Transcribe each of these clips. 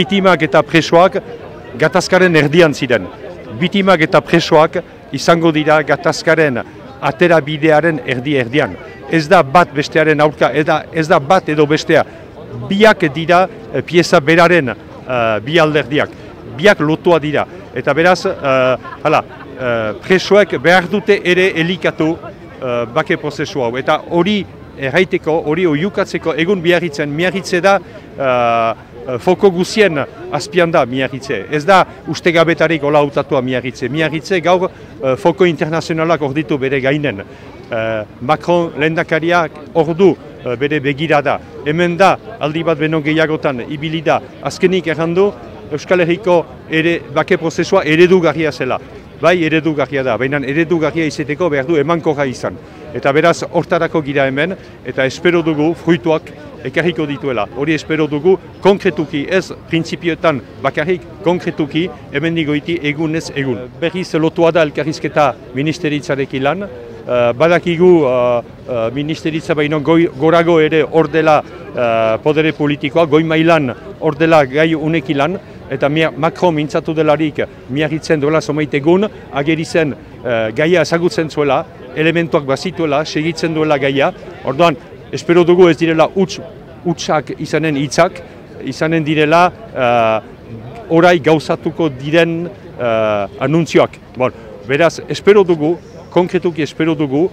Bitimak eta presoak gatazkaren erdian ziren. Bitimak eta presoak izango dira gatazkaren atera bidearen erdian. Ez da bat bestearen aurka, ez da bat edo bestea. Biak dira pieza beraren bi alderdiak. Biak lotua dira. Eta beraz, presoek behar dute ere elikatu bake prozesu hau. Eta hori erraiteko, hori oiukatzeko egun miarritze da foko guzien azpian da miarritze. Ez da ustegabetarik hola hautatua miarritze. Miarritze gaur foko internazionalak orditu bere gainen. Macron lehendakariak ordu bere begirada. Hemen da aldi bat beno gehiagotan ibili da. Azkenik errandu Euskal Herriko bake prozesua eredugarria zela. Bai, eredugarria da, baina eredugarria izateko behar du emankorra izan. Eta beraz, hortarako gira hemen, eta espero dugu fruituak ekarriko dituela. Hori espero dugu konkretuki, ez printzipioetan bakarrik konkretuki, hemen digoiti egunez egun. Berriz lotua da elkarrizketa ministeritzarekin lan. Badakigu ministeritza baino gorago ere hor dela podere politikoa, goi mailan hor dela gai unekin lan. Eta Macron mintzatu delarik miarritzen duela somait egun, ageri zen gaia ezagutzen zuela, elementuak bazituela, segitzen duela gaia. Orduan, espero dugu ez direla utsak izanen hitzak, izanen direla orai gauzatuko diren anuntzioak. Beraz, espero dugu, konkretuki espero dugu,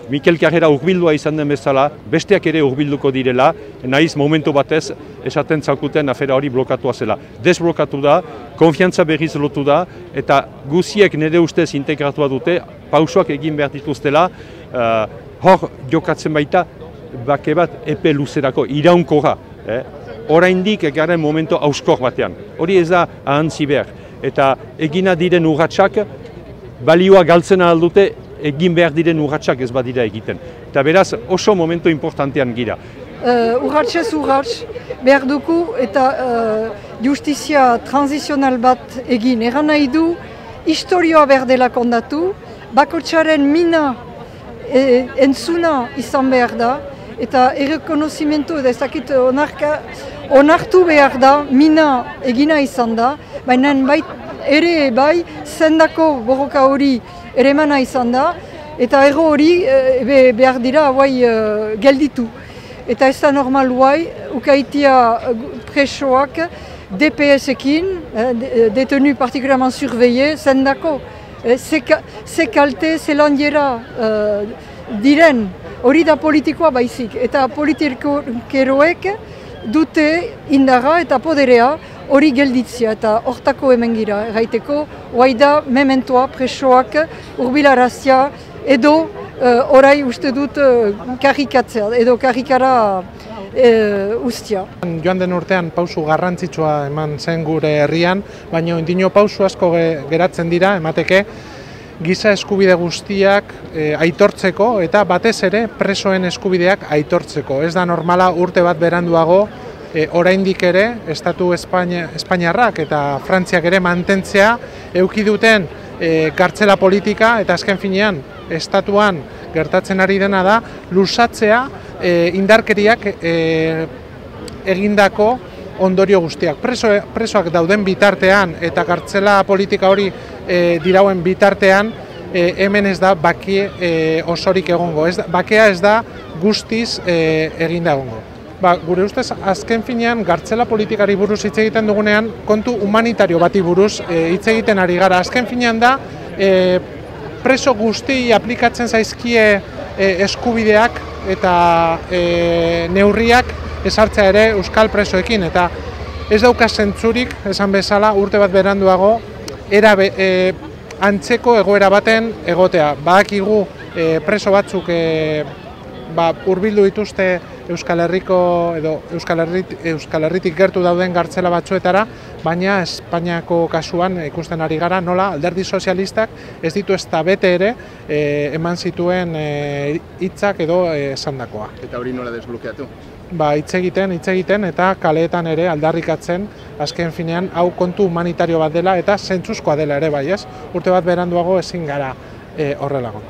Mikel Karrera urbildua izan den bezala, besteak ere urbilduko direla, nahiz momentu batez esaten zaukuten afera hori blokatua zela. Desblokatu da, konfiantza berriz lotu da, eta guziek nire ustez integratua dute, pausoak egin behar dituztela, hor jokatzen baita, bake bat epe luzerako, iraunkorra. Oraindik garen momentu hauskor batean. Hori ez da ahantzi behar. Eta egina diren urratsak, balioa galtzen aldute, egin behar diren urratsak ez badira egiten. Eta beraz, oso momentu importantean gira. Urratsez urrats behar dugu eta justizia transizional bat egin. Eran nahi du, historioa behar dela kondatu, bakotsaren mina entzuna izan behar da, eta errekonozimentu edo ezakit onartu behar da, mina egina izan da, baina ere bai, zendako borroka hori ere emana izan da, eta erro hori behar dira gelditu. Eta ez da normal guai, ukaitia presoak DPS-ekin, detenu partikularman surveille, zendako. Ze kalte, ze landiera diren, hori da politikoa baizik. Eta politikeroek dute indarra eta poderea hori gelditzia eta hortako hemen gira. Erraiteko, guai da mementoa presoak urbilarazia edo orai uste dut karikatzea edo karikara ustia. Joan den urtean pausu garrantzitsua eman zen gure herrian, baina indino pausu asko geratzen dira, emateke, giza eskubide guztiak aitortzeko eta batez ere presoen eskubideak aitortzeko. Ez da normala urte bat beranduago, oraindik ere, Estatu Espainiarrak eta Frantziak ere mantentzea eduki duten kartzela politika eta azken finean Estatuan gertatzen ari dena da luzatzea indarkeriak egindako ondorio guztiak. Presoak dauden bitartean eta kartzela politika hori dirauen bitartean hemen ez da bake osorik egongo. Bakea ez da guztiz eginda egongo. Gure ustez, azken finean, gartzela politikari buruz hitz egiten dugunean, kontu humanitario bati buruz hitz egiten ari gara. Azken finean da, preso guzti aplikatzen zaizkie eskubideak eta neurriak ezartzea ere euskal presoekin. Eta ez dauka zentzurik, esan bezala, urte bat beranduago, antzeko egoera baten egotea. Badakigu preso batzuk hurbildu dituzte Euskal Herriko edo Euskal Herritik gertu dauden gartzela batzuetara, baina Espainiako kasuan ikusten ari gara nola alderdi sozialistak ez ditu ezta bete ere eman zituen hitzak edo esandakoa. Eta hori nola desblokeatu? Hitz egiten eta kaleetan ere aldarrikatzen azken finean hau kontu humanitario bat dela eta zentzuzkoa dela ere bai, ez? Urte bat beranduago ezin gara horrelago.